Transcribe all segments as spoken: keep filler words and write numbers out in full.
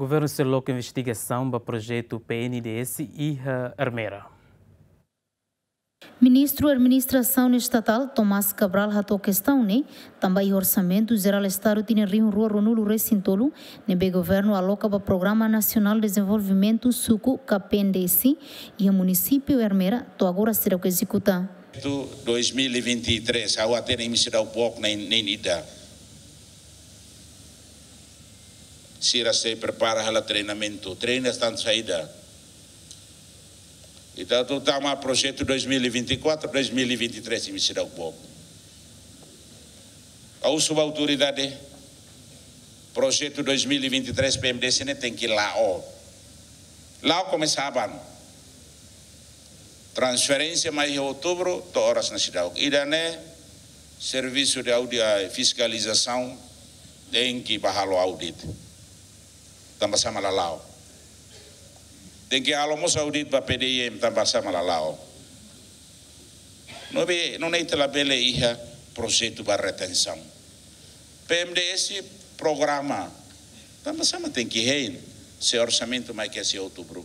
Governu sei loke investigasaun ba projetu P N D S iha Ermera. Ministru Administrasaun Estatál, Tomás Cabral, hato'o kestaun ne'e tanba iha Orsamentu Jerál Estadu tinan rihun rua ruanulu resin tolu ne'ebé governu aloka ba Programa Nasionál Dezenvolvimentu Suku ka P N D S iha munisípiu Ermera to'o agora seidauk ezekuta. Tu dois mil e vinte e três, ha'u hatene imi seidauk book nein, nein ida. Sira sei prepara halo treinamentu. Treina tantu saida. Ita atu tama projetu dois mil e vinte e quatro, dois mil e vinte e três imi seidauk book. Ha'u husu ba autoridade, projetu dois mil e vinte e três P N D S ne'e tenke la'o. La'o komesa aban. Transferénsia mai iha outubru, to'o oras ne'e seidauk. Ida-ne'e servisu de audi-, eh, fiskalizasaun tenke bá halo audit. Tanba sá mak la la'o. Tenke halo mós audit ba P D I M tanba sá mak la la'o. Ne'ebé, nune'e ita labele iha projetu ba retensaun. P N D S programa. Tanba sá mak tenke hein, se orsamentu mai kedas iha outubru.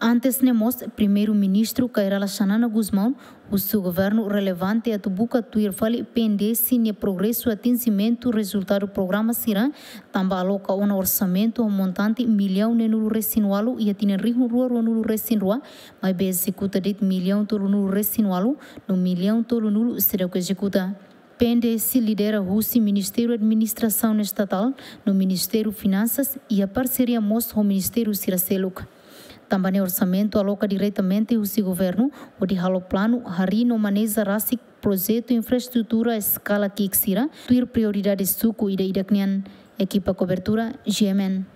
Antes ne'e mós, Primeiru-Ministru Kay Rala Xanana Gusmão husu governu relevante atu buka tuir fali P N D S nia progresu atinjimentu rezultadu programa sira, tanba aloka ona orsamentu ho montante millaun neenulu resin ualu iha tinan rihun rua ruanulu resin rua, maibé ezekuta de'it millaun tolunulu resin ualu, no millaun tolunulu seidauk ezekuta. P N D S lidera husi Ministériu Administrasaun Estatál no Ministériu Finansas iha parseria mós ho ministériu sira seluk. Tanba ne'e orsamentu aloka diretamente husi governu hodi halo planu, harii no maneja rasik projetu infraestrutura eskala ki'ik sira, tuir prioridade suku ida-idak nian. Ekipa kobertura, G M N.